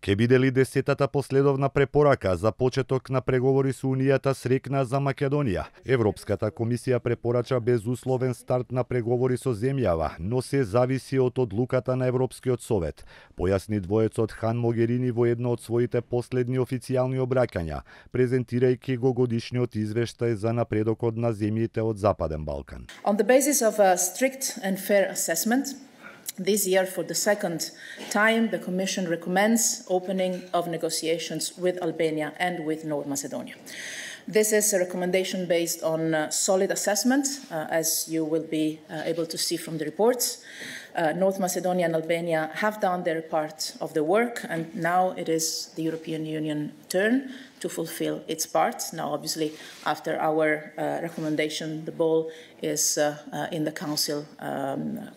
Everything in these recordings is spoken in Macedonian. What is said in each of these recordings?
Ке биде ли 10-та последовна препорака за почеток на преговори со Унијата срекна за Македонија? Европската комисија препорача безусловен старт на преговори со земјава, но се зависи од одлуката на Европскиот совет, појасни двоецот Хан Могерини во едно од своите последни официјални обраќања, презентирајќи го годишниот извештај за напредокот на земјите од Западен Балкан. On the basis of a strict and fair assessment, this year, for the second time, the Commission recommends opening of negotiations with Albania and with North Macedonia. This is a recommendation based on solid assessment, as you will be able to see from the reports. North Macedonia and Albania have done their part of the work, and now it is the European Union turn to fulfill its part. Now, obviously, after our recommendation, the ball is in the Council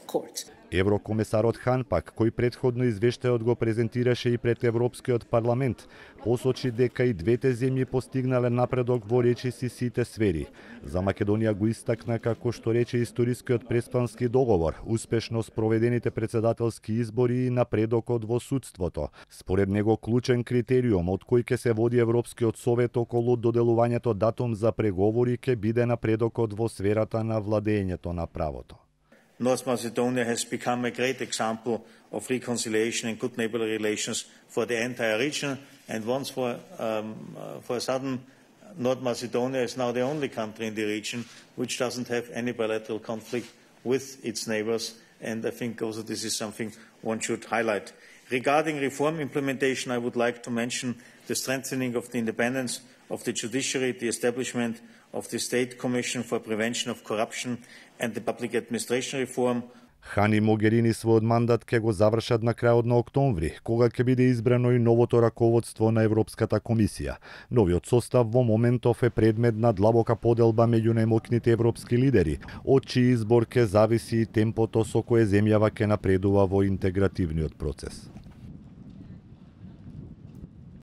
court. Еврокомесарот Хан пак, кој претходно извештајот го презентираше и пред Европскиот парламент, посочи дека и двете земји постигнале напредок во речиси сите сфери. За Македонија го истакна како што рече историскиот преспански договор, успешно спроведените председателски избори и напредокот во судството. Според него клучен критериум од кој ќе се води Европскиот совет околу доделувањето датум за преговори ќе биде напредокот во сферата на владењето на правото. North Macedonia has become a great example of reconciliation and good neighborly relations for the entire region. And once for a sudden, North Macedonia is now the only country in the region which doesn't have any bilateral conflict with its neighbors. And I think also this is something one should highlight. Regarding reform implementation, I would like to mention the strengthening of the independence of the judiciary, the establishment of the State Commission for Prevention of Corruption and the Public Administration Reform. Хан и Могерини својот мандат ќе го завршат на крајот на октомври, кога ќе биде избрано и новото раководство на Европската комисија. Новиот состав во моментов е предмет на длабока поделба меѓу најмоќните европски лидери, од чиј избор ќе зависи и темпото со кое земјава ќе напредува во интегративниот процес.